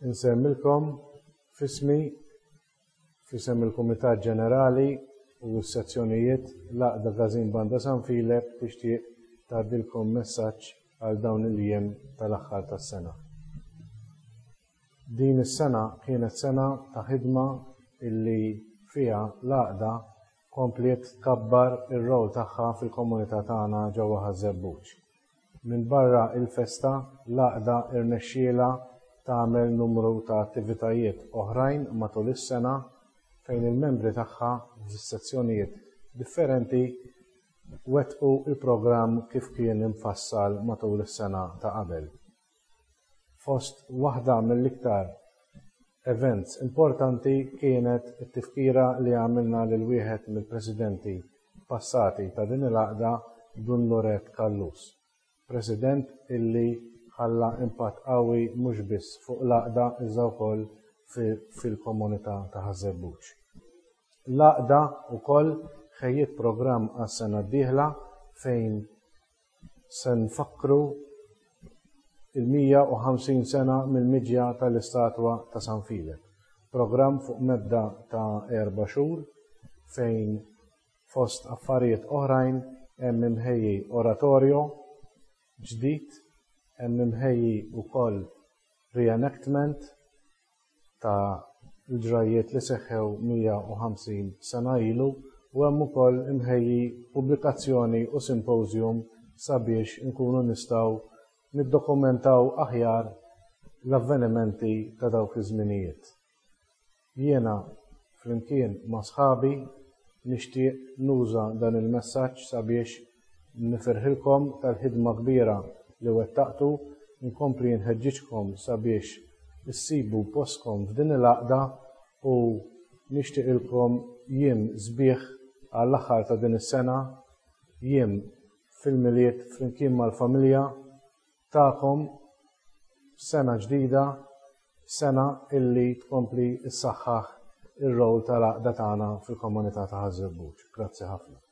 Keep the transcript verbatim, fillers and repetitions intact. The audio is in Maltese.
Insellmilkom f'ismi, f'isem il-Kumitat Ġenerali u s-sezzjonijiet. L-Għaqda Każin Banda San Filep tixtieq tgħaddilkom messaġġ għal dawn il-jiem tal-aħħar tas-sena. Din is-sena kienet sena ta' ħidma illi fiha l-għaqda kompliet tkabbar ir-rol tagħha fil-komunità tagħna ġewwa Ħaż-Żebbuġ. Minn barra il-festa, l-għaqda irnexxiela tagħmel numru ta' attivitajiet oħrajn matul is-sena fejn il-membri tagħha fis-sezzjonijiet differenti wettqu il-programm kif kien imfassal matul is-sena ta' qabel. Fost waħda mill-iktar events importanti kienet it-tifkira li għamilna lil wieħed mill-presidenti passati ta' din il-għaqda, Dun Loret Callus. President illi ħalla impatt qawwi mhux biss fuq l-għaqda iżda wkoll fil-komunità ta' Ħaż-Żebbuġ. L-għaqda wkoll ħejjiet programm għas-sena d-dieħla fejn se nfakru il-mija u ħamsin sena mill-miġja tal-istatwa ta' San Filep. Programm fuq medda ta' erba' xhur fejn fost affarijiet oħrajn hemm imħejji oratorio ġdid, hemm imħejji wkoll reenactment ta' l-ġrajiet li seħħew mija u ħamsin sena ilu u hemm ukoll imħejji pubblikazzjoni u symposium sabiex nkunu nistgħu niddokumentaw aħjar l-avvenimenti ta' dawk iż-żminijiet. Jiena flimkien ma' sħabi nixtieq nuża dan il-messaġġ sabiex nifirħilkom tal-ħidma kbira li wettaqtu, nkompli nħeġġiġkom sabiex issibu postkom f'din il-għaqda u nixtieqilkom jiem sbieħ għall-aħħar ta' din is-sena, jiem fil-Milied flimkien mal-familja tagħkom, sena ġdida, sena illi tkompli ssaħħaħ ir-rol tal-għaqda tagħna fil-komunità ta' Ħaż-Żebbuġ. Grazzi ħafna.